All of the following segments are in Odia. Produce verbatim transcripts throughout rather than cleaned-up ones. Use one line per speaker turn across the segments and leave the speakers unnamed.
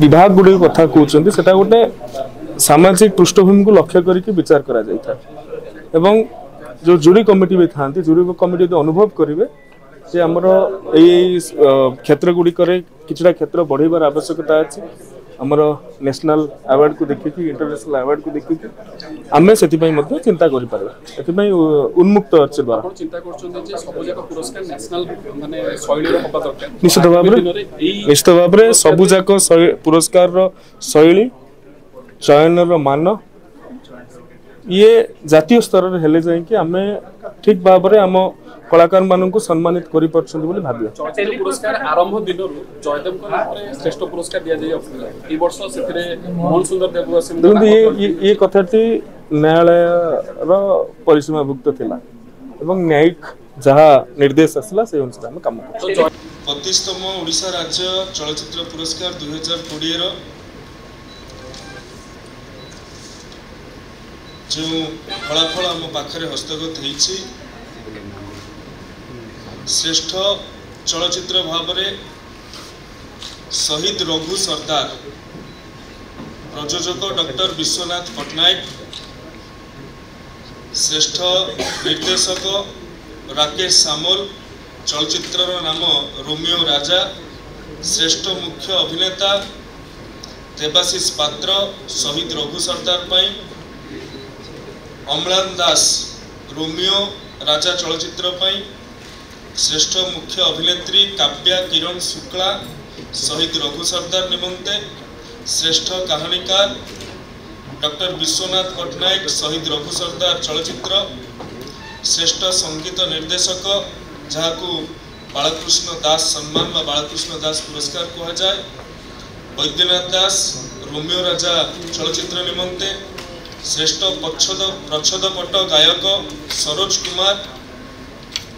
ବିଭାଗ ଗୁଡ଼ିକ କଥା କହୁଛନ୍ତି, ସେଟା ଗୋଟେ ସାମାଜିକ ପୃଷ୍ଠଭୂମିକୁ ଲକ୍ଷ୍ୟ କରିକି ବିଚାର କରାଯାଇଥାଏ ଏବଂ ଯେଉଁ ଜୁରି କମିଟି ବି ଥାନ୍ତି, ଜୁରି କମିଟି ଯଦି ଅନୁଭବ କରିବେ ଯେ ଆମର ଏଇ ଏଇ କ୍ଷେତ୍ର ଗୁଡ଼ିକରେ କିଛିଟା କ୍ଷେତ୍ର ବଢ଼େଇବାର ଆବଶ୍ୟକତା ଅଛି, ଆମର ନ୍ୟାସନାଲ ଆୱାର୍ଡକୁ ଦେଖିକି, ଇଣ୍ଟରନ୍ୟାସନାଲ ଆୱାର୍ଡକୁ ଦେଖିକି ଆମେ ସେଥିପାଇଁ ମଧ୍ୟ ଚିନ୍ତା କରିପାରିବା। ଏଥିପାଇଁ ଉନ୍ମୁକ୍ତ ଅଛି ଦ୍ୱାର।
ଆପଣ ଚିନ୍ତା କରୁଛନ୍ତି ଯେ ସବୁ ଯାକ ପୁରସ୍କାର ନ୍ୟାସନାଲ ମାନେ ଶୈଳୀର ହବା ଦରକାର?
ନିଶ୍ଚିତ ଭାବରେ,
ଦିନରେ ଏଇ
ନିଶ୍ଚିତ ଭାବରେ ସବୁଯାକ ଶୈ- ପୁରସ୍କାରର ଶୈଳୀ, ଚୟନର ମାନ ଇଏ ଜାତୀୟ ସ୍ତରରେ ହେଲେ ଯାଇକି ଆମେ ଠିକ ଭାବରେ ଆମ କଳାକାରମାନଙ୍କୁ ସମ୍ମାନିତ କରିପାରୁଛନ୍ତି ବୋଲି ଭାବିବା।
ଚଳଚ୍ଚିତ୍ର ପୁରସ୍କାର ଆରମ୍ଭ ଦିନରୁ ଜୟଦେବଙ୍କ ନାମରେ ଶ୍ରେଷ୍ଠ ପୁରସ୍କାର ଦିଆଯାଇ ଆସୁଥିଲା। ଏଇ ବର୍ଷ ସେଥିରେ ମୋହନ ସୁନ୍ଦର ଦେବବାସୀଙ୍କ
ଦେଖନ୍ତୁ,
ନାମ
ଇଏ ଇଏ- ଇଏ କଥାଟି ନ୍ୟାୟାଳୟର ପରିସୀମାଭୁକ୍ତ ଥିଲା ଏବଂ ନ୍ୟାୟିକ ଯାହା ନିର୍ଦ୍ଦେଶ ଆସିଲା, ସେଇ ଅନୁସାରେ ଆମେ କାମ କରୁଛୁ।
ତ ଜୟ
ପଚିଶତମ ଓଡ଼ିଶା ରାଜ୍ୟ ଚଳଚ୍ଚିତ୍ର ପୁରସ୍କାର ଦୁଇ ହଜାର କୋଡ଼ିଏର ଯେଉଁ ଫଳାଫଳ ଆମ ପାଖରେ ହସ୍ତଗତ ହେଇଛି, ଶ୍ରେଷ୍ଠ ଚଳଚ୍ଚିତ୍ର ଭାବରେ ଶହୀଦ ରଘୁ ସର୍ଦ୍ଦାର, ପ୍ରଯୋଜକ ଡକ୍ଟର ବିଶ୍ୱନାଥ ପଟ୍ଟନାୟକ, ଶ୍ରେଷ୍ଠ ନିର୍ଦ୍ଦେଶକ ରାକେଶ ସାମଲ, ଚଳଚ୍ଚିତ୍ରର ନାମ ରୋମିଓ ରାଜା, ଶ୍ରେଷ୍ଠ ମୁଖ୍ୟ ଅଭିନେତା ଦେବାଶିଷ ପାତ୍ର ଶହୀଦ ରଘୁ ସର୍ଦ୍ଦାର ପାଇଁ, ଅମ୍ଳାନ ଦାସ ରୋମିଓ ରାଜା ଚଳଚ୍ଚିତ୍ର ପାଇଁ, ଶ୍ରେଷ୍ଠ ମୁଖ୍ୟ ଅଭିନେତ୍ରୀ କାବ୍ୟା କିରଣ ଶୁକ୍ଳା ଶହୀଦ ରଘୁ ସର୍ଦ୍ଦାର ନିମନ୍ତେ, ଶ୍ରେଷ୍ଠ କାହାଣୀକାର ଡକ୍ଟର ବିଶ୍ୱନାଥ ପଟ୍ଟନାୟକ ଶହୀଦ ରଘୁ ସର୍ଦ୍ଦାର ଚଳଚ୍ଚିତ୍ର, ଶ୍ରେଷ୍ଠ ସଙ୍ଗୀତ ନିର୍ଦ୍ଦେଶକ, ଯାହାକୁ ବାଳକୃଷ୍ଣ ଦାସ ସମ୍ମାନ ବା ବାଳକୃଷ୍ଣ ଦାସ ପୁରସ୍କାର କୁହାଯାଏ, ବୈଦ୍ୟନାଥ ଦାସ ରୋମିଓ ରାଜା ଚଳଚ୍ଚିତ୍ର ନିମନ୍ତେ, ଶ୍ରେଷ୍ଠ ପ୍ରଚ୍ଛଦ ପ୍ରଚ୍ଛଦପଟ ଗାୟକ ସରୋଜ କୁମାର,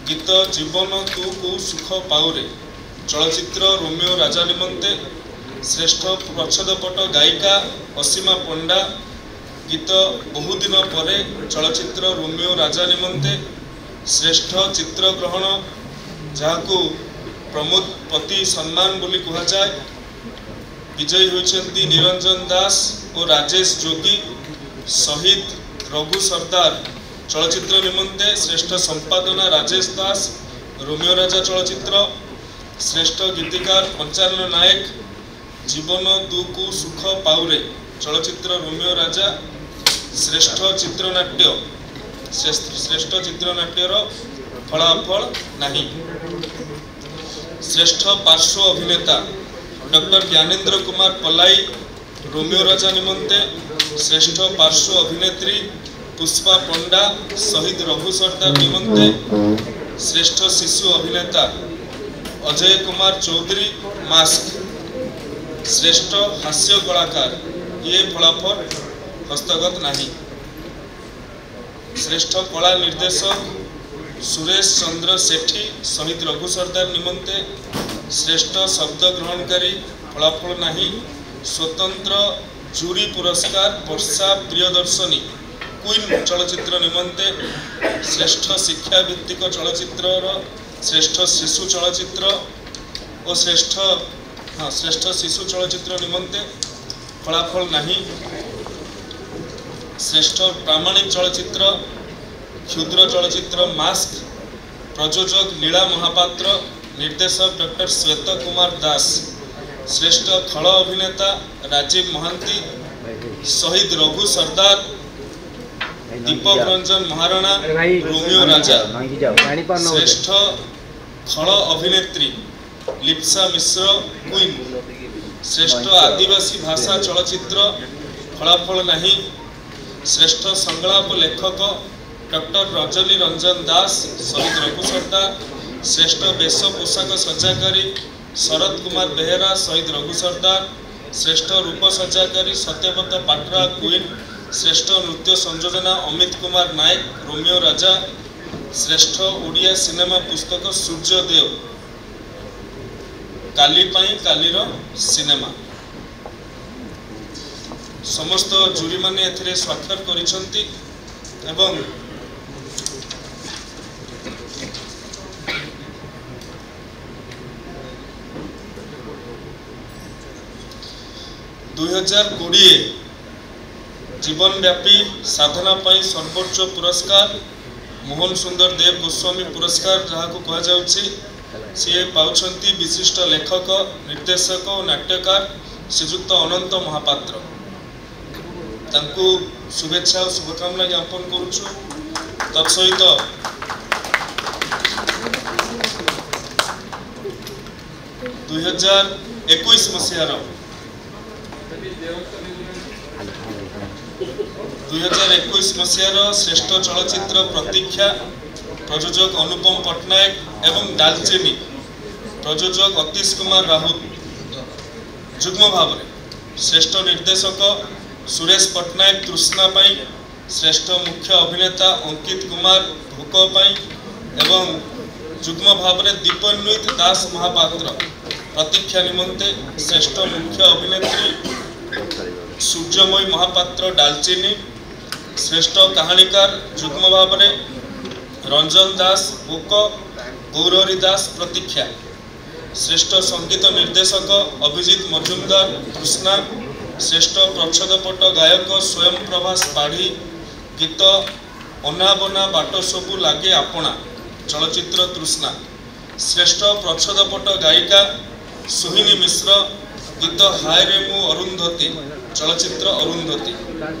ଗୀତ ଜୀବନ ତୁ କୋଉ ସୁଖ ପାଉରେ, ଚଳଚ୍ଚିତ୍ର ରୋମିଓ ରାଜା ନିମନ୍ତେ, ଶ୍ରେଷ୍ଠ ପ୍ରଚ୍ଛଦପଟ ଗାୟିକା ଅସୀମା ପଣ୍ଡା, ଗୀତ ବହୁଦିନ ପରେ, ଚଳଚ୍ଚିତ୍ର ରୋମିଓ ରାଜା ନିମନ୍ତେ, ଶ୍ରେଷ୍ଠ ଚିତ୍ରଗ୍ରହଣ, ଯାହାକୁ ପ୍ରମୋଦ ପତି ସମ୍ମାନ ବୋଲି କୁହାଯାଏ, ବିଜୟୀ ହୋଇଛନ୍ତି ନିରଞ୍ଜନ ଦାସ ଓ ରାଜେଶ ଯୋଗୀ ଶହୀଦ ରଘୁ ସର୍ଦ୍ଦାର ଚଳଚ୍ଚିତ୍ର ନିମନ୍ତେ, ଶ୍ରେଷ୍ଠ ସମ୍ପାଦନା ରାଜେଶ ଦାସ ରୋମିଓ ରାଜା ଚଳଚ୍ଚିତ୍ର, ଶ୍ରେଷ୍ଠ ଗୀତିକାର ପଞ୍ଚାନନ ନାୟକ, ଜୀବନ ତୁ ସୁଖ ପାଉରେ, ଚଳଚ୍ଚିତ୍ର ରୋମିଓ ରାଜା, ଶ୍ରେଷ୍ଠ ଚିତ୍ରନାଟ୍ୟ, ଶ୍ରେଷ୍ଠ ଶ୍ରେଷ୍ଠ ଚିତ୍ରନାଟ୍ୟର ଫଳାଫଳ ନାହିଁ। ଶ୍ରେଷ୍ଠ ପାର୍ଶ୍ୱ ଅଭିନେତା ଡକ୍ଟର ଜ୍ଞାନେନ୍ଦ୍ର କୁମାର ପଲାଇ ରୋମିଓ ରାଜା ନିମନ୍ତେ, ଶ୍ରେଷ୍ଠ ପାର୍ଶ୍ୱ ଅଭିନେତ୍ରୀ ପୁଷ୍ପା ପଣ୍ଡା ଶହୀଦ ରଘୁ ସର୍ଦ୍ଦାର ନିମନ୍ତେ, ଶ୍ରେଷ୍ଠ ଶିଶୁ ଅଭିନେତା ଅଜୟ କୁମାର ଚୌଧୁରୀ ମାସ୍କ, ଶ୍ରେଷ୍ଠ ହାସ୍ୟ କଳାକାର ଇଏ ଫଳାଫଳ ହସ୍ତଗତ ନାହିଁ। ଶ୍ରେଷ୍ଠ କଳା ନିର୍ଦ୍ଦେଶକ ସୁରେଶ ଚନ୍ଦ୍ର ସେଠୀ ଶହୀଦ ରଘୁ ସର୍ଦ୍ଦାର ନିମନ୍ତେ, ଶ୍ରେଷ୍ଠ ଶବ୍ଦ ଗ୍ରହଣକାରୀ ଫଳାଫଳ ନାହିଁ। ସ୍ୱତନ୍ତ୍ର ଜୁରି ପୁରସ୍କାର ବର୍ଷା ପ୍ରିୟଦର୍ଶନୀ କୁଇନ୍ ଚଳଚ୍ଚିତ୍ର ନିମନ୍ତେ, ଶ୍ରେଷ୍ଠ ଶିକ୍ଷାଭିତ୍ତିକ ଚଳଚ୍ଚିତ୍ରର ଶ୍ରେଷ୍ଠ ଶିଶୁ ଚଳଚ୍ଚିତ୍ର ଓ ଶ୍ରେଷ୍ଠ ହଁ ଶ୍ରେଷ୍ଠ ଶିଶୁ ଚଳଚ୍ଚିତ୍ର ନିମନ୍ତେ ଫଳାଫଳ ନାହିଁ। ଶ୍ରେଷ୍ଠ ପ୍ରାମାଣିକ ଚଳଚ୍ଚିତ୍ର କ୍ଷୁଦ୍ର ଚଳଚ୍ଚିତ୍ର ମାସ୍କ, ପ୍ରଯୋଜକ ଲୀଳା ମହାପାତ୍ର, ନିର୍ଦ୍ଦେଶକ ଡକ୍ଟର ଶ୍ୱେତ କୁମାର ଦାସ, ଶ୍ରେଷ୍ଠ ଖଳ ଅଭିନେତା ରାଜୀବ ମହାନ୍ତି ଶହୀଦ ରଘୁ ସର୍ଦ୍ଦାର, ଦୀପକ ରଞ୍ଜନ ମହାରଣା ରୋମିଓ ରାଜା, ଶ୍ରେଷ୍ଠ ଖଳ ଅଭିନେତ୍ରୀ ଲିପ୍ସା ମିଶ୍ର କୁଇନ୍, ଶ୍ରେଷ୍ଠ ଆଦିବାସୀ ଭାଷା ଚଳଚ୍ଚିତ୍ର ଫଳାଫଳ ନାହିଁ। ଶ୍ରେଷ୍ଠ ସଂଳାପ ଲେଖକ ଡକ୍ଟର ରଜନୀ ରଞ୍ଜନ ଦାସ ଶହୀଦ ରଘୁ ସର୍ଦ୍ଦାର, ଶ୍ରେଷ୍ଠ ବେଶ ପୋଷାକ ସଜ୍ଜାକାରୀ ଶରତ କୁମାର ବେହେରା ଶହୀଦ ରଘୁ ସର୍ଦ୍ଦାର, ଶ୍ରେଷ୍ଠ ରୂପ ସଜ୍ଜାକାରୀ ସତ୍ୟବ୍ରତ ପାଟ୍ରା କୁଇନ୍, ଶ୍ରେଷ୍ଠ ନୃତ୍ୟ ସଂଯୋଜନା ଅମିତ କୁମାର ନାୟକ ରୋମିଓ ରାଜା, ଶ୍ରେଷ୍ଠ ଓଡ଼ିଆ ସିନେମା ପୁସ୍ତକ ସୂର୍ଯ୍ୟଦେବ କାଲି ପାଇଁ କାଲିର ସିନେମା। ସମସ୍ତ ଜୁରିମାନେ ଏଥିରେ ସ୍ୱାକ୍ଷର କରିଛନ୍ତି ଏବଂ ଦୁଇହଜାର କୋଡ଼ିଏ ଜୀବନବ୍ୟାପୀ ସାଧନା ପାଇଁ ସର୍ବୋଚ୍ଚ ପୁରସ୍କାର ମୋହନ ସୁନ୍ଦର ଦେବ ଗୋସ୍ୱାମୀ ପୁରସ୍କାର ଯାହାକୁ କୁହାଯାଉଛି, ସିଏ ପାଉଛନ୍ତି ବିଶିଷ୍ଟ ଲେଖକ, ନିର୍ଦ୍ଦେଶକ ଓ ନାଟ୍ୟକାର ଶ୍ରୀଯୁକ୍ତ ଅନନ୍ତ ମହାପାତ୍ର। ତାଙ୍କୁ ଶୁଭେଚ୍ଛା ଓ ଶୁଭକାମନା ଜ୍ଞାପନ କରୁଛୁ। ତତ୍ସହିତ ଦୁଇହଜାର ଏକୋଇଶ ମସିହାର ଦୁଇହଜାର ଏକୋଇଶ ମସିହାର ଶ୍ରେଷ୍ଠ ଚଳଚ୍ଚିତ୍ର ପ୍ରତୀକ୍ଷା, ପ୍ରଯୋଜକ ଅନୁପମ ପଟ୍ଟନାୟକ ଏବଂ ଡାଲଚିନି, ପ୍ରଯୋଜକ ଅତୀଶ କୁମାର ରାଉତ ଯୁଗ୍ମ ଭାବରେ, ଶ୍ରେଷ୍ଠ ନିର୍ଦ୍ଦେଶକ ସୁରେଶ ପଟ୍ଟନାୟକ ତୃଷ୍ଣା ପାଇଁ, ଶ୍ରେଷ୍ଠ ମୁଖ୍ୟ ଅଭିନେତା ଅଙ୍କିତ କୁମାର ଭୋକ ପାଇଁ ଏବଂ ଯୁଗ୍ମ ଭାବରେ ଦୀପନ୍ୱିତ ଦାସ ମହାପାତ୍ର ପ୍ରତୀକ୍ଷା ନିମନ୍ତେ, ଶ୍ରେଷ୍ଠ ମୁଖ୍ୟ ଅଭିନେତ୍ରୀ ସୂର୍ଯ୍ୟମୟୀ ମହାପାତ୍ର ଡାଲଚିନି, ଶ୍ରେଷ୍ଠ କାହାଣୀକାର ଯୁଗ୍ମ ଭାବରେ ରଞ୍ଜନ ଦାସ ଭୋକ, ଗୌରହରି ଦାସ ପ୍ରତୀକ୍ଷା, ଶ୍ରେଷ୍ଠ ସଙ୍ଗୀତ ନିର୍ଦ୍ଦେଶକ ଅଭିଜିତ ମଜୁମଦାର ତୃଷ୍ଣା, ଶ୍ରେଷ୍ଠ ପ୍ରଚ୍ଛଦପଟ ଗାୟକ ସ୍ୱୟଂ ପ୍ରଭାସ ପାଢ଼ୀ ଗୀତ ଅନାବନା ବାଟ ସବୁ ଲାଗେ ଆପଣା ଚଳଚ୍ଚିତ୍ର ତୃଷ୍ଣା, ଶ୍ରେଷ୍ଠ ପ୍ରଚ୍ଛଦପଟ ଗାୟିକା ସୋହିନୀ ମିଶ୍ର ଗୀତ ହାୟରେ ମୁଁ ଅରୁନ୍ଧତୀ ଚଳଚ୍ଚିତ୍ର ଅରୁନ୍ଧତୀ,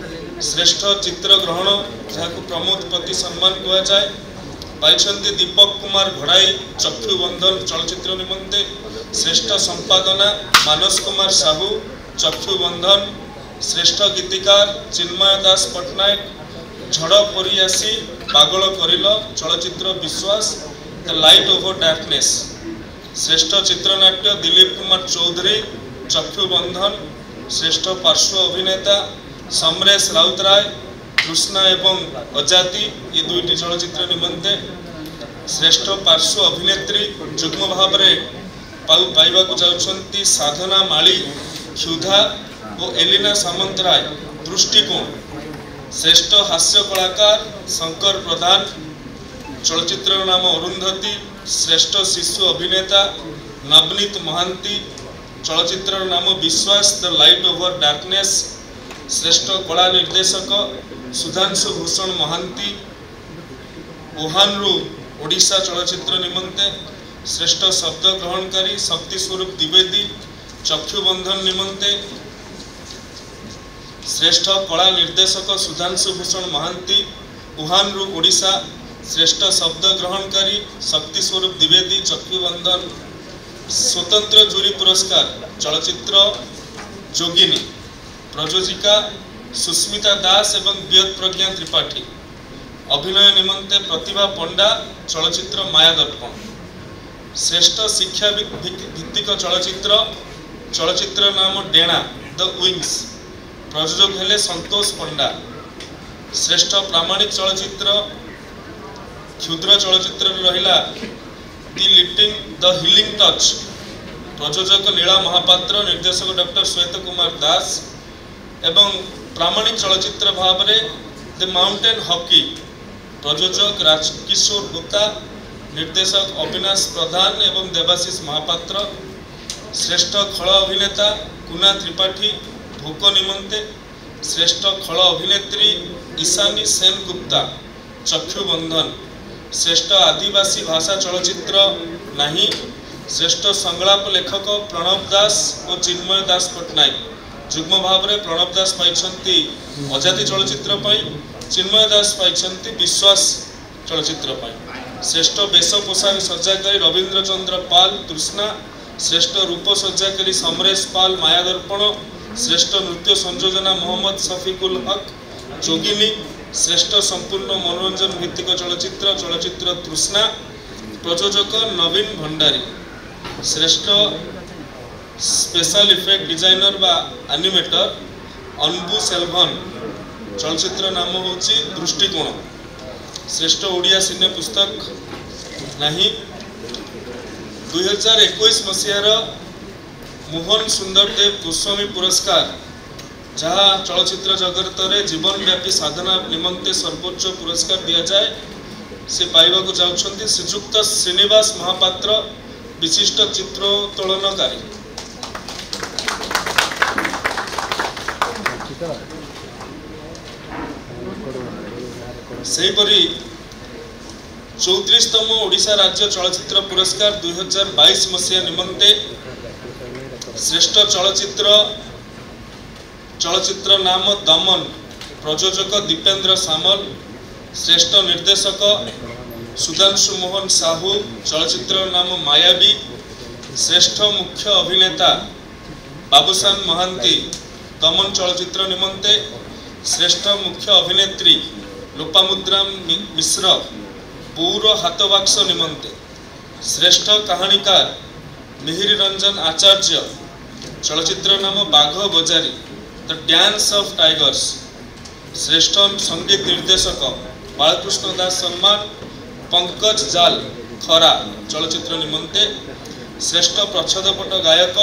ଶ୍ରେଷ୍ଠ ଚିତ୍ରଗ୍ରହଣ ଯାହାକୁ ପ୍ରମୋଦ ପତି ସମ୍ମାନ କୁହାଯାଏ ପାଇଛନ୍ତି ଦୀପକ କୁମାର ଘଡ଼ାଇ ଚକ୍ଷୁବନ୍ଧନ ଚଳଚ୍ଚିତ୍ର ନିମନ୍ତେ, ଶ୍ରେଷ୍ଠ ସମ୍ପାଦନା ମାନସ କୁମାର ସାହୁ ଚକ୍ଷୁବନ୍ଧନ, ଶ୍ରେଷ୍ଠ ଗୀତିକାର ଚିନ୍ମୟ ଦାସ ପଟ୍ଟନାୟକ ଝଡ଼ ପରି ଆସି ପାଗଳ କରିଲ ଚଳଚ୍ଚିତ୍ର ବିଶ୍ୱାସ ଦ ଲାଇଟ୍ ଓଭର ଡାର୍କନେସ୍, ଶ୍ରେଷ୍ଠ ଚିତ୍ରନାଟ୍ୟ ଦିଲ୍ଲୀପ କୁମାର ଚୌଧୁରୀ ଚକ୍ଷୁବନ୍ଧନ, ଶ୍ରେଷ୍ଠ ପାର୍ଶ୍ୱ ଅଭିନେତା ସମରେଶ ରାଉତରାୟ ତୃଷ୍ଣା ଏବଂ ଅଜାତି ଏ ଦୁଇଟି ଚଳଚ୍ଚିତ୍ର ନିମନ୍ତେ, ଶ୍ରେଷ୍ଠ ପାର୍ଶ୍ୱ ଅଭିନେତ୍ରୀ ଯୁଗ୍ମ ଭାବରେ ପାଇବାକୁ ଯାଉଛନ୍ତି ସାଧନା ମାଳି କ୍ଷୁଧା ଓ ଏଲିନା ସାମନ୍ତରାୟ ଦୃଷ୍ଟିକୋଣ, ଶ୍ରେଷ୍ଠ ହାସ୍ୟ କଳାକାର ଶଙ୍କର ପ୍ରଧାନ ଚଳଚ୍ଚିତ୍ରର ନାମ ଅରୁନ୍ଧତୀ, ଶ୍ରେଷ୍ଠ ଶିଶୁ ଅଭିନେତା ନବନୀତ ମହାନ୍ତି ଚଳଚ୍ଚିତ୍ରର ନାମ ବିଶ୍ୱାସ ଦ ଲାଇଟ୍ ଓଭର ଡାର୍କନେସ୍, ଶ୍ରେଷ୍ଠ କଳା ନିର୍ଦ୍ଦେଶକ ସୁଧାଂଶୁ ଭୂଷଣ ମହାନ୍ତି ଓହାନରୁ ଓଡ଼ିଶା ଚଳଚ୍ଚିତ୍ର ନିମନ୍ତେ, ଶ୍ରେଷ୍ଠ ଶବ୍ଦ ଗ୍ରହଣକାରୀ ଶକ୍ତି ସ୍ୱରୂପ ଦ୍ୱିବେଦୀ ଚକ୍ଷୁବନ୍ଧନ ନିମନ୍ତେ, ଶ୍ରେଷ୍ଠ କଳା ନିର୍ଦ୍ଦେଶକ ସୁଧାଂଶୁ ଭୂଷଣ ମହାନ୍ତି ଉହାନରୁ ଓଡ଼ିଶା, ଶ୍ରେଷ୍ଠ ଶବ୍ଦ ଗ୍ରହଣକାରୀ ଶକ୍ତି ସ୍ୱରୂପ ଦ୍ୱିବେଦୀ ଚକ୍ଷୁବନ୍ଧନ, ସ୍ୱତନ୍ତ୍ର ଜୁରି ପୁରସ୍କାର ଚଳଚ୍ଚିତ୍ର ଯୋଗିନୀ ପ୍ରଯୋଜିକା ସୁସ୍ମିତା ଦାସ ଏବଂ ବିୟତ ପ୍ରଜ୍ଞା ତ୍ରିପାଠୀ, ଅଭିନୟ ନିମନ୍ତେ ପ୍ରତିଭା ପଣ୍ଡା ଚଳଚ୍ଚିତ୍ର ମାୟାଦର୍ପଣ, ଶ୍ରେଷ୍ଠ ଶିକ୍ଷା ଭିତ୍ତିକ ଚଳଚ୍ଚିତ୍ର ଚଳଚ୍ଚିତ୍ର ନାମ ଡେଣା ଦ ୱିଙ୍ଗସ୍, ପ୍ରଯୋଜକ ହେଲେ ସନ୍ତୋଷ ପଣ୍ଡା, ଶ୍ରେଷ୍ଠ ପ୍ରାମାଣିକ ଚଳଚ୍ଚିତ୍ର କ୍ଷୁଦ୍ର ଚଳଚ୍ଚିତ୍ରରେ ରହିଲା the little the healing touch, ପ୍ରଯୋଜକ ଲୀଳା ମହାପାତ୍ର, ନିର୍ଦ୍ଦେଶକ ଡକ୍ଟର ଶ୍ୱେତ କୁମାର ଦାସ ଏବଂ ପ୍ରାମାଣିକ ଚଳଚ୍ଚିତ୍ର ଭାବରେ ଦ ମାଉଣ୍ଟେନ୍ ହକି, ପ୍ରଯୋଜକ ରାଜକିଶୋର ହୋତା, ନିର୍ଦ୍ଦେଶକ ଅବିନାଶ ପ୍ରଧାନ ଏବଂ ଦେବାଶିଷ ମହାପାତ୍ର, ଶ୍ରେଷ୍ଠ ଖଳ ଅଭିନେତା କୁନା ତ୍ରିପାଠୀ ଭୋକ ନିମନ୍ତେ, ଶ୍ରେଷ୍ଠ ଖଳ ଅଭିନେତ୍ରୀ ଈଶାନୀ ସେନଗୁପ୍ତା ଚକ୍ଷୁବନ୍ଧନ, ଶ୍ରେଷ୍ଠ ଆଦିବାସୀ ଭାଷା ଚଳଚ୍ଚିତ୍ର ନାହିଁ, ଶ୍ରେଷ୍ଠ ସଂଳାପ ଲେଖକ ପ୍ରଣବ ଦାସ ଓ ଚିନ୍ମୟ ଦାସ ପଟ୍ଟନାୟକ ଯୁଗ୍ମ ଭାବରେ ପ୍ରଣବ ଦାସ ପାଇଛନ୍ତି ଅଜାତି ଚଳଚ୍ଚିତ୍ର ପାଇଁ, ଚିନ୍ମୟ ଦାସ ପାଇଛନ୍ତି ବିଶ୍ୱାସ ଚଳଚ୍ଚିତ୍ର ପାଇଁ, ଶ୍ରେଷ୍ଠ ବେଶ ପୋଷାକ ସଜ୍ଜାକାରୀ ରବୀନ୍ଦ୍ର ଚନ୍ଦ୍ର ପାଲ ତୃଷ୍ଣା, ଶ୍ରେଷ୍ଠ ରୂପ ସଜ୍ଜାକାରୀ ସମରେଶ ପାଲ ମାୟାଦର୍ପଣ, ଶ୍ରେଷ୍ଠ ନୃତ୍ୟ ସଂଯୋଜନା ମହମ୍ମଦ ସଫିକୁଲ ହକ ଯୋଗିନୀ, ଶ୍ରେଷ୍ଠ ସମ୍ପୂର୍ଣ୍ଣ ମନୋରଞ୍ଜନ ଭିତ୍ତିକ ଚଳଚ୍ଚିତ୍ର ଚଳଚ୍ଚିତ୍ର ତୃଷ୍ଣା, ପ୍ରଯୋଜକ ନବୀନ ଭଣ୍ଡାରୀ, ଶ୍ରେଷ୍ଠ ସ୍ପେଶାଲ ଇଫେକ୍ଟ ଡିଜାଇନର ବା ଆନିମେଟର ଅନବୁ ସେଲଭନ, ଚଳଚ୍ଚିତ୍ର ନାମ ହେଉଛି ଦୃଷ୍ଟିକୋଣ, ଶ୍ରେଷ୍ଠ ଓଡ଼ିଆ ସିନେ ପୁସ୍ତକ ନାହିଁ। ଦୁଇହଜାର ଏକୋଇଶ ମସିହାର ମୋହନ ସୁନ୍ଦର ଦେବ ଗୋସ୍ୱାମୀ ପୁରସ୍କାର ଯାହା ଚଳଚ୍ଚିତ୍ର ଜଗତରେ ଜୀବନବ୍ୟାପୀ ସାଧନା ନିମନ୍ତେ ସର୍ବୋଚ୍ଚ ପୁରସ୍କାର ଦିଆଯାଏ, ସେ ପାଇବାକୁ ଯାଉଛନ୍ତି ଶ୍ରୀଯୁକ୍ତ ଶ୍ରୀନିବାସ ମହାପାତ୍ର, ବିଶିଷ୍ଟ ଚିତ୍ରୋତ୍ତୋଳନକାରୀ। ସେହିପରି ଚଉତିରିଶତମ ଓଡ଼ିଶା ରାଜ୍ୟ ଚଳଚ୍ଚିତ୍ର ପୁରସ୍କାର ଦୁଇ ହଜାର ବାଇଶ ମସିହା ନିମନ୍ତେ ଶ୍ରେଷ୍ଠ ଚଳଚ୍ଚିତ୍ର ଚଳଚ୍ଚିତ୍ର ନାମ ଦମନ, ପ୍ରଯୋଜକ ଦୀପେନ୍ଦ୍ର ସାମଲ, ଶ୍ରେଷ୍ଠ ନିର୍ଦ୍ଦେଶକ ସୁଧାଂଶୁ ମୋହନ ସାହୁ, ଚଳଚ୍ଚିତ୍ର ନାମ ମାୟାବୀ, ଶ୍ରେଷ୍ଠ ମୁଖ୍ୟ ଅଭିନେତା ବାବୁସାନ ମହାନ୍ତି ଦମନ ଚଳଚ୍ଚିତ୍ର ନିମନ୍ତେ, ଶ୍ରେଷ୍ଠ ମୁଖ୍ୟ ଅଭିନେତ୍ରୀ ଲୋପାମୁଦ୍ରା ମିଶ୍ର ବୋଉର ହାତବାକ୍ସ ନିମନ୍ତେ, ଶ୍ରେଷ୍ଠ କାହାଣୀକାର ମିହିର ରଞ୍ଜନ ଆଚାର୍ଯ୍ୟ, ଚଳଚ୍ଚିତ୍ର ନାମ Bagha Bajari the dance of tigers, ଶ୍ରେଷ୍ଠ ସଙ୍ଗୀତ ନିର୍ଦ୍ଦେଶକ ବାଳକୃଷ୍ଣ ଦାସ ସମ୍ମାନ ପଙ୍କଜ ଜାଲ ଖରା ଚଳଚ୍ଚିତ୍ର ନିମନ୍ତେ, ଶ୍ରେଷ୍ଠ ପ୍ରଚ୍ଛଦପଟ ଗାୟକ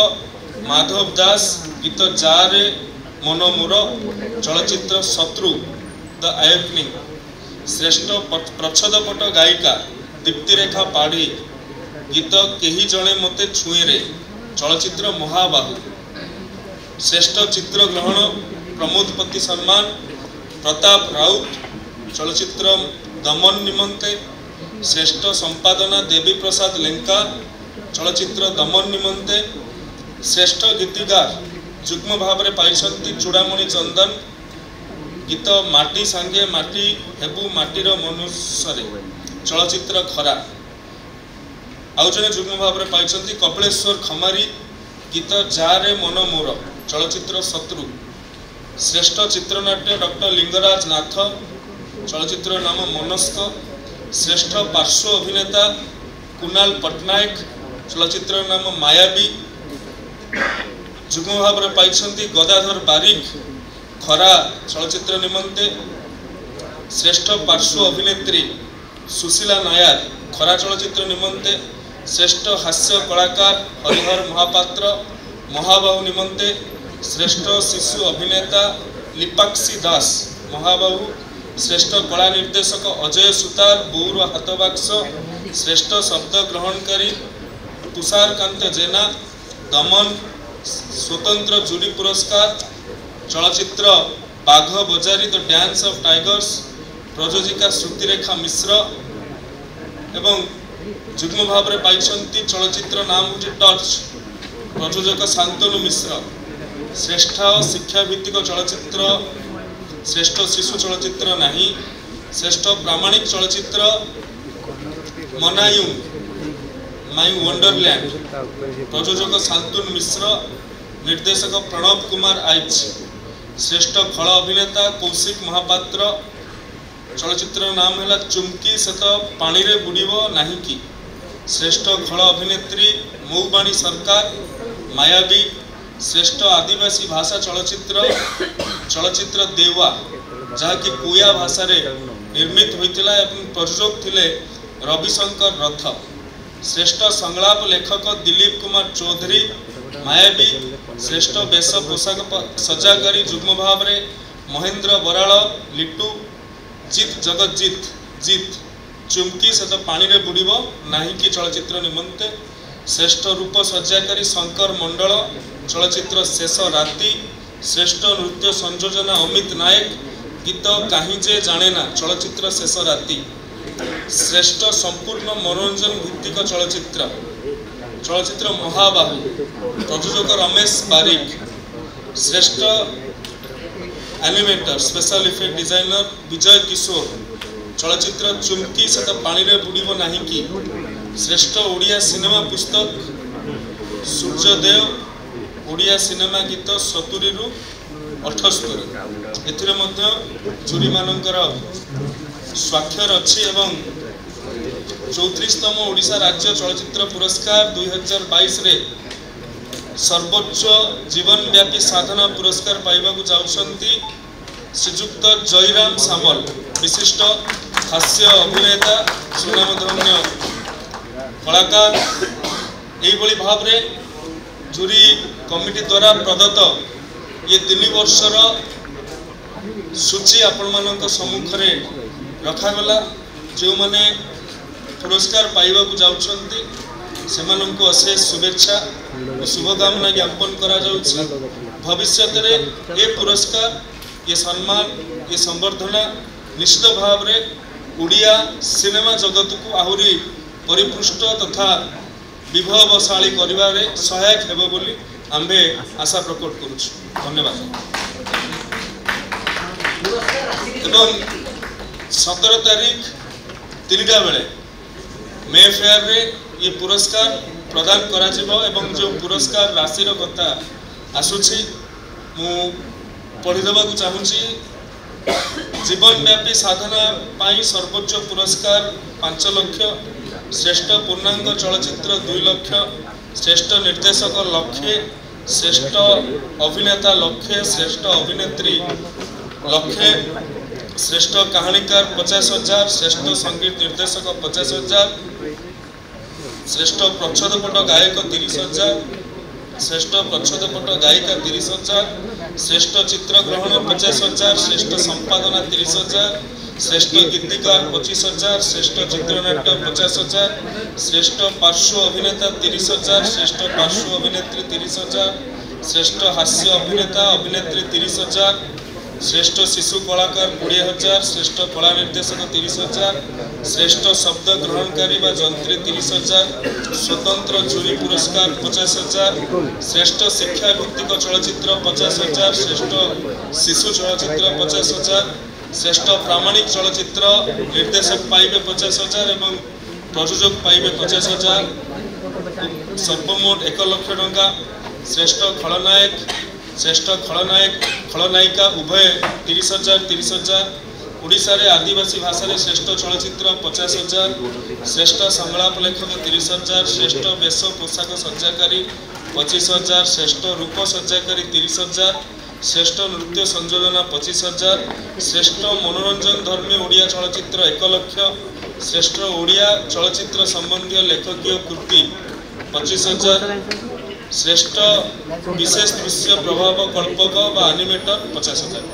ମାଧବ ଦାସ ଗୀତ ଯାରେ ମନ ମୋର ଚଳଚ୍ଚିତ୍ର ଶତ୍ରୁ ଦ ଆୟକନିଂ, ଶ୍ରେଷ୍ଠ ପ୍ରଚ୍ଛଦପଟ ଗାୟିକା ଦୀପ୍ତିରେଖା ପାଢ଼ୀ ଗୀତ କେହି ଜଣେ ମୋତେ ଛୁଏଁରେ ଚଳଚ୍ଚିତ୍ର ମହାବାହୁ, ଶ୍ରେଷ୍ଠ ଚିତ୍ରଗ୍ରହଣ ପ୍ରମୋଦ ପତି ସମ୍ମାନ ପ୍ରତାପ ରାଉତ ଚଳଚ୍ଚିତ୍ର ଦମନ ନିମନ୍ତେ, ଶ୍ରେଷ୍ଠ ସମ୍ପାଦନା ଦେବୀ ପ୍ରସାଦ ଲେଙ୍କା ଚଳଚ୍ଚିତ୍ର ଦମନ ନିମନ୍ତେ, ଶ୍ରେଷ୍ଠ ଗୀତିକାର ଯୁଗ୍ମ ଭାବରେ ପାଇଛନ୍ତି ଚୂଡ଼ାମଣି ଚନ୍ଦନ ଗୀତ ମାଟି ସାଙ୍ଗେ ମାଟି ହେବୁ ମାଟିର ମନୁଷ୍ୟରେ ଚଳଚ୍ଚିତ୍ର ଖରା, ଆଉ ଜଣେ ଯୁଗ୍ମ ଭାବରେ ପାଇଛନ୍ତି କପିଳେଶ୍ୱର ଖମାରୀ ଗୀତ ଯାରେ ମନ ମୋର ଚଳଚ୍ଚିତ୍ର ଶତ୍ରୁ, ଶ୍ରେଷ୍ଠ ଚିତ୍ରନାଟ୍ୟ ଡକ୍ଟର ଲିଙ୍ଗରାଜ ନାଥ ଚଳଚ୍ଚିତ୍ର ନାମ ମନସ୍କ, ଶ୍ରେଷ୍ଠ ପାର୍ଶ୍ୱ ଅଭିନେତା କୁନାଲ ପଟ୍ଟନାୟକ ଚଳଚ୍ଚିତ୍ର ନାମ ମାୟାବୀ, ଯୁଗ୍ମ ଭାବରେ ପାଇଛନ୍ତି ଗଦାଧର ବାରିକ ଖରା ଚଳଚ୍ଚିତ୍ର ନିମନ୍ତେ, ଶ୍ରେଷ୍ଠ ପାର୍ଶ୍ୱ ଅଭିନେତ୍ରୀ ସୁଶୀଲା ନାୟାର ଖରା ଚଳଚ୍ଚିତ୍ର ନିମନ୍ତେ, ଶ୍ରେଷ୍ଠ ହାସ୍ୟ କଳାକାର ହରିହର ମହାପାତ୍ର ମହାବାହୁ ନିମନ୍ତେ, ଶ୍ରେଷ୍ଠ ଶିଶୁ ଅଭିନେତା ଲିପାକ୍ଷୀ ଦାସ ମହାବାହୁ, ଶ୍ରେଷ୍ଠ କଳା ନିର୍ଦ୍ଦେଶକ ଅଜୟ ସୁତାର ବୋଉର ହାତବାକ୍ସ, ଶ୍ରେଷ୍ଠ ଶବ୍ଦ ଗ୍ରହଣକାରୀ ତୁଷାରକାନ୍ତ ଜେନା ଦମନ, ସ୍ୱତନ୍ତ୍ର ଜୁରି ପୁରସ୍କାର ଚଳଚ୍ଚିତ୍ର Bagha Bajari the dance of tigers ପ୍ରଯୋଜିକା ଶ୍ରୁତିରେଖା Mishra ଏବଂ ଯୁଗ୍ମ ଭାବରେ ପାଇଛନ୍ତି ଚଳଚ୍ଚିତ୍ର ନାମ ହେଉଛି ଟର୍ଚ୍ଚ, ପ୍ରଯୋଜକ ଶାନ୍ତନୁ ମିଶ୍ର, ଶ୍ରେଷ୍ଠ ଶିକ୍ଷାଭିତ୍ତିକ ଚଳଚ୍ଚିତ୍ର ଶ୍ରେଷ୍ଠ ଶିଶୁ ଚଳଚ୍ଚିତ୍ର ନାହିଁ, ଶ୍ରେଷ୍ଠ ପ୍ରାମାଣିକ ଚଳଚ୍ଚିତ୍ର ମନାୟୁଙ୍ଗ ମାଇ ୱଣ୍ଡରଲ୍ୟାଣ୍ଡ ପ୍ରଯୋଜକ ଶାନ୍ତନୁ ମିଶ୍ର, ନିର୍ଦ୍ଦେଶକ ପ୍ରଣବ କୁମାର ଆଇଚ, ଶ୍ରେଷ୍ଠ ଖଳ ଅଭିନେତା କୌଶିକ ମହାପାତ୍ର, ଚଳଚ୍ଚିତ୍ରର ନାମ ହେଲା ଚୁମ୍କି ସେ ତ ପାଣିରେ ବୁଡ଼ିବ ନାହିଁ କି, ଶ୍ରେଷ୍ଠ ଖଳ ଅଭିନେତ୍ରୀ ମୌବାଣୀ ସରକାର ମାୟାବୀ, ଶ୍ରେଷ୍ଠ ଆଦିବାସୀ ଭାଷା ଚଳଚ୍ଚିତ୍ର ଚଳଚ୍ଚିତ୍ର ଦେୱା ଯାହାକି କୋୟା ଭାଷାରେ ନିର୍ମିତ ହୋଇଥିଲା ଏବଂ ପ୍ରଯୋଜକ ଥିଲେ ରବିଶଙ୍କର ରଥ, ଶ୍ରେଷ୍ଠ ସଂଳାପ ଲେଖକ ଦିଲ୍ଲୀପ କୁମାର ଚୌଧୁରୀ ମାୟାବୀ, ଶ୍ରେଷ୍ଠ ବେଶ ପୋଷାକ ସଜାକାରୀ ଯୁଗ୍ମ ଭାବରେ ମହେନ୍ଦ୍ର ବରାଳ ଲିଟୁ, ଜିତ୍ ଜଗତଜିତ ଜିତ୍ ଚୁମ୍କି ସେ ତ ପାଣିରେ ବୁଡ଼ିବ ନାହିଁ କି ଚଳଚ୍ଚିତ୍ର ନିମନ୍ତେ, ଶ୍ରେଷ୍ଠ ରୂପ ସଜ୍ଜାକାରୀ ଶଙ୍କର ମଣ୍ଡଳ ଚଳଚ୍ଚିତ୍ର ଶେଷ ରାତି, ଶ୍ରେଷ୍ଠ ନୃତ୍ୟ ସଂଯୋଜନା ଅମିତ ନାୟକ ଗୀତ କାହିଁ ଯେ ଜାଣେ ନା ଚଳଚ୍ଚିତ୍ର ଶେଷ ରାତି, ଶ୍ରେଷ୍ଠ ସମ୍ପୂର୍ଣ୍ଣ ମନୋରଞ୍ଜନ ଭିତ୍ତିକ ଚଳଚ୍ଚିତ୍ର ଚଳଚ୍ଚିତ୍ର ମହାବାହୁ ପ୍ରଯୋଜକ ରମେଶ ବାରିକ, ଶ୍ରେଷ୍ଠ animator special effect designer Bijay Kishore ଚଳଚ୍ଚିତ୍ର ଚୁମ୍କି ସେ ତ ପାଣିରେ ବୁଡ଼ିବ ନାହିଁ କି, ଶ୍ରେଷ୍ଠ ଓଡ଼ିଆ ସିନେମା ପୁସ୍ତକ ସୂର୍ଯ୍ୟଦେବ, ଓଡ଼ିଆ ସିନେମା ଗୀତ ସତୁରିରୁ ଅଠସ୍ତରୀ, ଏଥିରେ ମଧ୍ୟ ଜୁରିମାନଙ୍କର ସ୍ୱାକ୍ଷର ଅଛି। ଏବଂ ଚଉତିରିଶତମ ଓଡ଼ିଶା ରାଜ୍ୟ ଚଳଚ୍ଚିତ୍ର ପୁରସ୍କାର ଦୁଇ ହଜାର ବାଇଶରେ ସର୍ବୋଚ୍ଚ ଜୀବନବ୍ୟାପୀ ସାଧନା ପୁରସ୍କାର ପାଇବାକୁ ଯାଉଛନ୍ତି ଶ୍ରୀଯୁକ୍ତ ଜୟରାମ ସାମଲ, ବିଶିଷ୍ଟ ହାସ୍ୟ ଅଭିନେତା, ସୁନାମଧନ୍ୟ କଳାକାର। ଏଇଭଳି ଭାବରେ ଜୁରି କମିଟି ଦ୍ୱାରା ପ୍ରଦତ୍ତ ଇଏ ତିନି ବର୍ଷର ସୂଚୀ ଆପଣମାନଙ୍କ ସମ୍ମୁଖରେ ରଖାଗଲା। ଯେଉଁମାନେ ପୁରସ୍କାର ପାଇବାକୁ ଯାଉଛନ୍ତି ସେମାନଙ୍କୁ ଅଶେଷ ଶୁଭେଚ୍ଛା ଓ ଶୁଭକାମନା ଜ୍ଞାପନ କରାଯାଉଛି। ଭବିଷ୍ୟତରେ ଏ ପୁରସ୍କାର, ଏ ସମ୍ମାନ, ଏ ସମ୍ବର୍ଦ୍ଧନା ନିଶ୍ଚିତ ଭାବରେ ଓଡ଼ିଆ ସିନେମା ଜଗତକୁ ଆହୁରି ପରିପୃଷ୍ଟ ତଥା ବିଭବଶାଳୀ କରିବାରେ ସହାୟକ ହେବ ବୋଲି ଆମ୍ଭେ ଆଶା ପ୍ରକଟ କରୁଛୁ। ଧନ୍ୟବାଦ। ଏବଂ ସତର ତାରିଖ ତିନିଟା ବେଳେ ମେ ଫେୟାରରେ ଇଏ ପୁରସ୍କାର ପ୍ରଦାନ କରାଯିବ। ଏବଂ ଯେଉଁ ପୁରସ୍କାର ରାଶିର କଥା ଆସୁଛି, ମୁଁ ପଢ଼ିଦେବାକୁ ଚାହୁଁଛି। ଜୀବନବ୍ୟାପୀ ସାଧନା ପାଇଁ ସର୍ବୋଚ୍ଚ ପୁରସ୍କାର ପାଞ୍ଚ ଲକ୍ଷ, ଶ୍ରେଷ୍ଠ ପୂର୍ଣ୍ଣାଙ୍ଗ ଚଳଚ୍ଚିତ୍ର ଦୁଇ ଲକ୍ଷ, ଶ୍ରେଷ୍ଠ ନିର୍ଦ୍ଦେଶକ ଲକ୍ଷେ, ଶ୍ରେଷ୍ଠ ଅଭିନେତା ଲକ୍ଷେ, ଶ୍ରେଷ୍ଠ ଅଭିନେତ୍ରୀ ଲକ୍ଷେ, ଶ୍ରେଷ୍ଠ କାହାଣୀକାର ପଚାଶ ହଜାର, ଶ୍ରେଷ୍ଠ ସଙ୍ଗୀତ ନିର୍ଦ୍ଦେଶକ ପଚାଶ ହଜାର, ଶ୍ରେଷ୍ଠ ପ୍ରଚ୍ଛଦପଟ ଗାୟକ ତିରିଶ ହଜାର, ଶ୍ରେଷ୍ଠ ପ୍ରଚ୍ଛଦପଟ ଗାୟିକା ତିରିଶ ହଜାର, ଶ୍ରେଷ୍ଠ ଚିତ୍ରଗ୍ରହଣ ପଚାଶ ହଜାର, ଶ୍ରେଷ୍ଠ ସମ୍ପାଦନା ତିରିଶ ହଜାର, ଶ୍ରେଷ୍ଠ ଗୀତିକାର ପଚିଶ ହଜାର, ଶ୍ରେଷ୍ଠ ଚିତ୍ରନାଟ୍ୟ ପଚାଶ ହଜାର, ଶ୍ରେଷ୍ଠ ପାର୍ଶ୍ୱ ଅଭିନେତା ତିରିଶ ହଜାର, ଶ୍ରେଷ୍ଠ ପାର୍ଶ୍ୱ ଅଭିନେତ୍ରୀ ତିରିଶ ହଜାର, ଶ୍ରେଷ୍ଠ ହାସ୍ୟ ଅଭିନେତା ଅଭିନେତ୍ରୀ ତିରିଶ ହଜାର, ଶ୍ରେଷ୍ଠ ଶିଶୁ କଳାକାର କୋଡ଼ିଏ ହଜାର, ଶ୍ରେଷ୍ଠ କଳା ନିର୍ଦ୍ଦେଶକ ତିରିଶ ହଜାର, ଶ୍ରେଷ୍ଠ ଶବ୍ଦ ଗ୍ରହଣକାରୀ ବା ଯନ୍ତ୍ରୀ ତିରିଶ ହଜାର, ସ୍ୱତନ୍ତ୍ର ଜୁରି ପୁରସ୍କାର ପଚାଶ ହଜାର, ଶ୍ରେଷ୍ଠ ଶିକ୍ଷା ଭିତ୍ତିକ ଚଳଚ୍ଚିତ୍ର ପଚାଶ ହଜାର, ଶ୍ରେଷ୍ଠ ଶିଶୁ ଚଳଚ୍ଚିତ୍ର ପଚାଶ ହଜାର, ଶ୍ରେଷ୍ଠ ପ୍ରାମାଣିକ ଚଳଚ୍ଚିତ୍ର ନିର୍ଦ୍ଦେଶକ ପାଇବେ ପଚାଶ ହଜାର ଏବଂ ପ୍ରଯୋଜକ ପାଇବେ ପଚାଶ ହଜାର, ସର୍ବମୋଟ ଏକ ଲକ୍ଷ ଟଙ୍କା। ଶ୍ରେଷ୍ଠ ଖଳନାୟକ, ଶ୍ରେଷ୍ଠ ଖଳନାୟକ, ଖଳନାୟିକା ଉଭୟ ତିରିଶ ହଜାର ତିରିଶ ହଜାର। ଓଡ଼ିଶାରେ ଆଦିବାସୀ ଭାଷାରେ ଶ୍ରେଷ୍ଠ ଚଳଚ୍ଚିତ୍ର ପଚାଶ ହଜାର, ଶ୍ରେଷ୍ଠ ସଂଳାପ ଲେଖକ ତିରିଶ ହଜାର, ଶ୍ରେଷ୍ଠ ବେଶ ପୋଷାକ ସଜ୍ଜାକାରୀ ପଚିଶ ହଜାର, ଶ୍ରେଷ୍ଠ ରୂପ ସଜ୍ଜାକାରୀ ତିରିଶ ହଜାର, ଶ୍ରେଷ୍ଠ ନୃତ୍ୟ ସଂଯୋଜନା ପଚିଶ ହଜାର, ଶ୍ରେଷ୍ଠ ମନୋରଞ୍ଜନ ଧର୍ମୀ ଓଡ଼ିଆ ଚଳଚ୍ଚିତ୍ର ଏକ ଲକ୍ଷ, ଶ୍ରେଷ୍ଠ ଓଡ଼ିଆ ଚଳଚ୍ଚିତ୍ର ସମ୍ବନ୍ଧୀୟ ଲେଖକୀୟ କୃତି ପଚିଶ ହଜାର, ଶ୍ରେଷ୍ଠ ବିଶେଷ ଦୃଶ୍ୟ ପ୍ରଭାବ କଳ୍ପକ ବା ଆନିମେଟର ପଚାଶ ହଜାର।